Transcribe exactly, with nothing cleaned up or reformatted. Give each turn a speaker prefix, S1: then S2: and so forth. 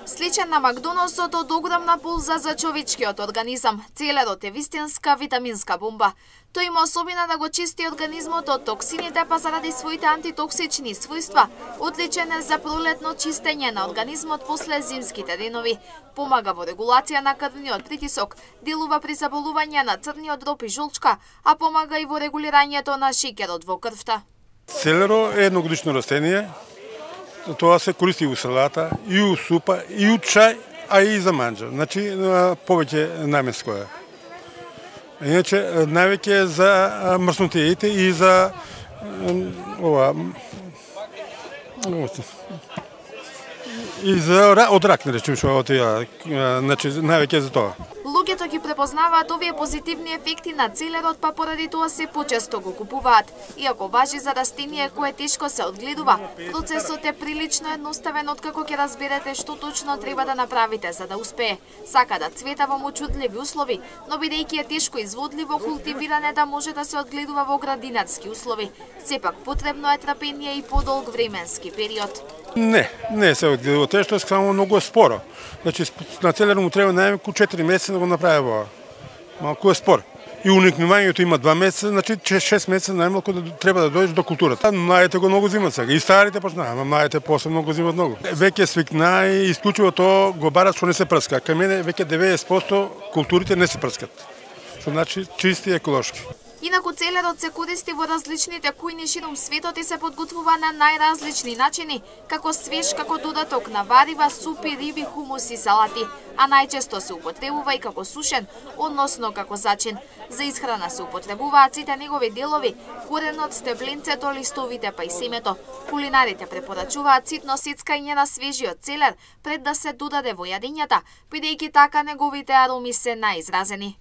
S1: Сличен на Макдоналдсот од огромна полза за човечкиот организам, целерот е вистинска витаминска бомба. Тој има особина да го чисти организмот од токсините, па заради своите антитоксични својства, одличен е за пролетно чистење на организмот после зимските денови. Помага во регулација на крвниот притисок, делува при заболување на црниот дроб и жолчка, а помага и во регулирањето на шеќерот во крвта.
S2: Целеро е едногодишно растение. Тоа се користи у салата, и у супа, и у чај, а и за манџа. Значи, повеќе наменско е. Иначе, највеќе за мрснотиите и за ова и за од рак, не речем што од тие, значи највеќе за тоа.
S1: Луѓето ги препознаваат овие позитивни ефекти на целерот, па поради тоа се почесто го купуваат. Иако важи за растение кое тешко се одгледува, процесот е прилично едноставен откако ќе разберете што точно треба да направите за да успее. Сака да цвета во мочудливи услови, но бидејќи е тешко изводливо култивиране да може да се одгледува во градинарски услови. Сепак потребно е трпение и подолг временски период.
S2: Не, не се одгледува тешко, само многу споро. Значи, на целер му треба најмалку четири месеца да го направи во. Малку е спор. И уникнувањето има два месеца, значи шест месеца најмалку да треба да дојдеш до културата. Младите го многу зимат сега, и старите почнаа, ама младите посебно го зимат многу. Веќе свикна и исклучиво тоа го барат што не се прска. Кај мене веќе деветдесет проценти културите не се прскат. Што значи чисти и еколошки.
S1: Инаку целерот се користи во различните кујни ширум светот и се подготвува на најразлични начини, како свеж, како додаток на варива, супи, риби, хумус и салати, а најчесто се употребува и како сушен, односно како зачин. За исхрана се употребуваат сите негови делови, коренот, стебленцето, листовите па и семето. Кулинарите препорачуваат ситно сецкање на свежиот целер пред да се додаде во јадењата, бидејќи така неговите ароми се најизразени.